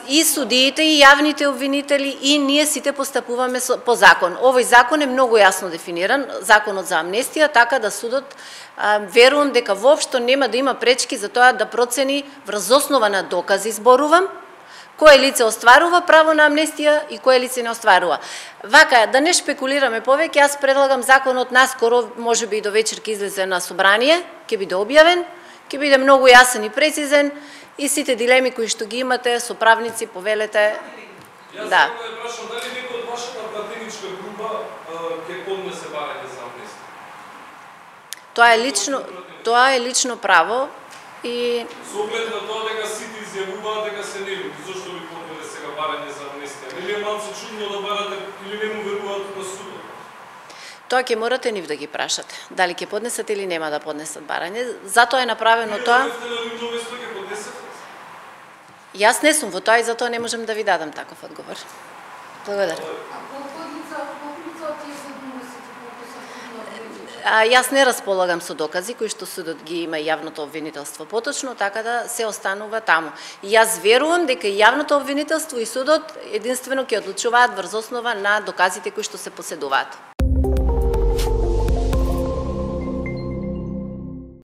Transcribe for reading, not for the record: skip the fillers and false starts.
и судиите, и јавните обвинители, и ние сите постапуваме по закон. Овој закон е многу јасно дефиниран, законот за амнестија, така да судот верувам дека воопшто нема да има пречки за тоа да процени врз основа на докази, зборувам, кое лице остварува право на амнестија и кое лице не остварува. Вака, да не шпекулираме повеќе, јас предлагам законот наскоро, можеби и до вечер ќе излезе на собрание, ќе биде објавен, ќе биде многу јасен и прецизен, и сите дилеми кои што ги имате со правници, повелете. Јас да прашам дали некој од вашата пратеничка група ќе поднесе барање за амнестија? Тоа е лично право и со оглед на тоа дека сите изјавуваат дека се невини, зошто ви поднесе сега барање за амнестија? Нели е малку чудно да барате или не му веруваат на судот? Тоа ќе морате нив да ги прашате. Дали ќе поднесат или нема да поднесат барање. Затоа е направено тоа. Јас не сум во тоа и затоа не можем да ви дадам таков одговор. Благодарам. Јас не располагам со докази кои што судот ги има јавното обвинителство поточно, така да се останува таму. Јас верувам дека јавното обвинителство и судот единствено ќе одлучуваат врз основа на доказите кои што се поседуваат.